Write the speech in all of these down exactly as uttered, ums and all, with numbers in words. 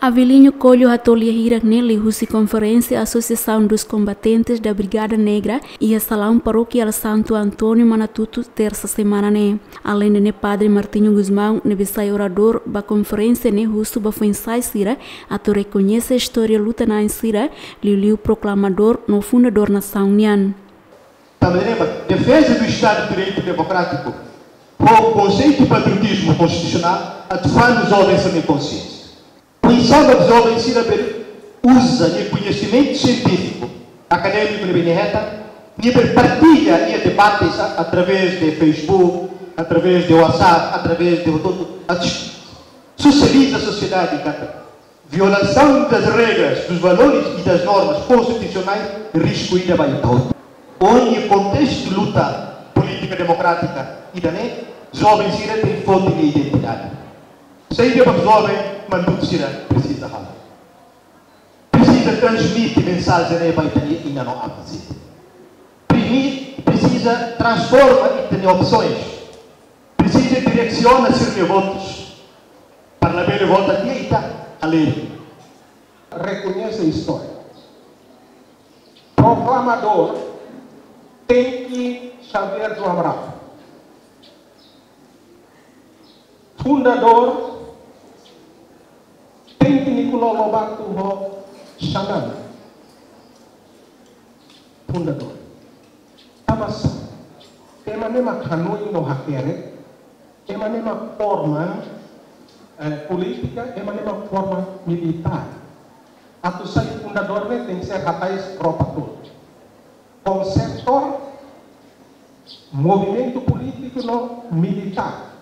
Avelino Coelho hato'o lia hirak ne'e liuhusi konferénsia Associação dos Combatentes da Brigada Negra iha salaun Parókia Santo António, Manatuto, tersa semana ne'e. Aleinde ne'e, Padre Martinho Gusmão ne'ebé sai oradór ba konferénsia ne'e husu ba foin-sa'e sira atu rekoñese istória luta-na'in sira, liuliu proklamadór no fundadór nasaun nian. Tanba ne'e, defeza do Estado de Direito Democrático, ho konseitu patriotizmu konstitusionál, atu fó joven sira-nia konsiénsia. Oinsá mak joven sira bele uza nia koñesimentu sientífiku, akadémiku ne'ebé nia hetan, nia bele partilla nia debates a-, através de Facebook, através de WhatsApp, através de todo, atu sosializa sosiedade katak violação das regras, dos valores e das normas constitucionais, risku ida ba ita hotu. Iha kontestu luta polítika demokrátika ida-ne'e, joven sira tenke foti nia identidade. Saida mak joven Manatuto sira presiza halo? Presiza transmite mensajen ne'e ba ita-nia inan no aman sira. Primi-, presiza transforma ita-nia opsoens. Presiza diresiona sira-nia votus para labele vota tiha ita alegre. Rekoñese istória. Proklamadór tenke Xavier do Amaral. Fundadór tenke Nicolau Lobato ho Xanana. Fundadór. Tanba sá? Ema ne'e mak hanoin no hakerek, ema ne'e mak forma, eh, polítika, ema ne'e mak forma militár. Atu sai fundadór ne'e tenke ser hatais tropa tolu. Konseptór, movimentu polítiku no militár.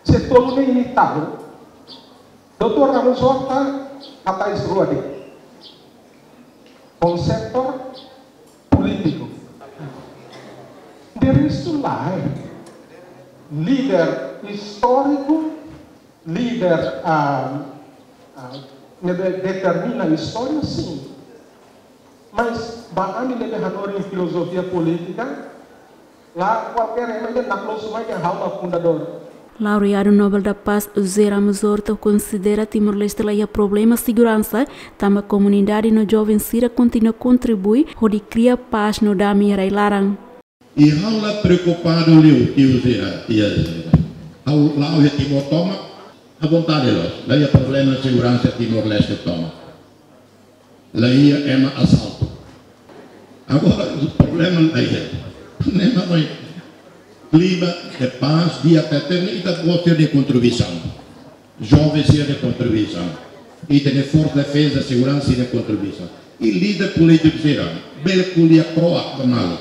Se tolu ne'e imi tahu, doutór Ramos Horta hatais rua de'it. Konseptór, polítiku. De restu lae. Líder istóriku, líder, ah, ah, ne'ebé determina istória, sin. Mas ba ami ne'ebé hanorin filozofia polítika, la kualkér ema ida naklosu mai dehan ha'u mak fundadór. Laureadu Nobel da Paz José Ramos Horta konsidera Timor-Leste la iha problema seguransa, tanba komunidade no joven sira kontinua kontribui hodi kria pás no dame iha rai-laran. I ha'u la preokupadu liu, tiu sira, tia sira. Ha'u la'o iha Timor tomak, à vontade loos. La iha problema seguransa Timor-Leste tomak. La iha ema asaltu. Agora, problema la iha. Problema mak klima de pás, di'ak tebes, ita-boot sira-nia kontribuisaun. Joven sira-nia kontribuisaun. Ita-nia forsa defeza, seguransa sira-nia kontribuisaun. I líder polítiku sira, bele ko'alia kro'at ba malu.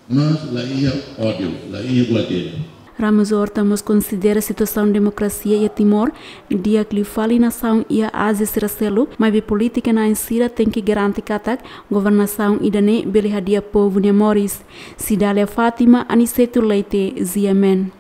Mas la iha ódiu, la iha buat ida. Ramos Horta mós konsidera situasaun demokrasia iha Timor di'ak liu fali nasaun iha Ázia sira seluk, maibé polítika-na'in sira tenke garante katak governasaun ida-ne'e bele hadi'a povu nia moris. Cidália Fátima, Aniceto Leite, G M N.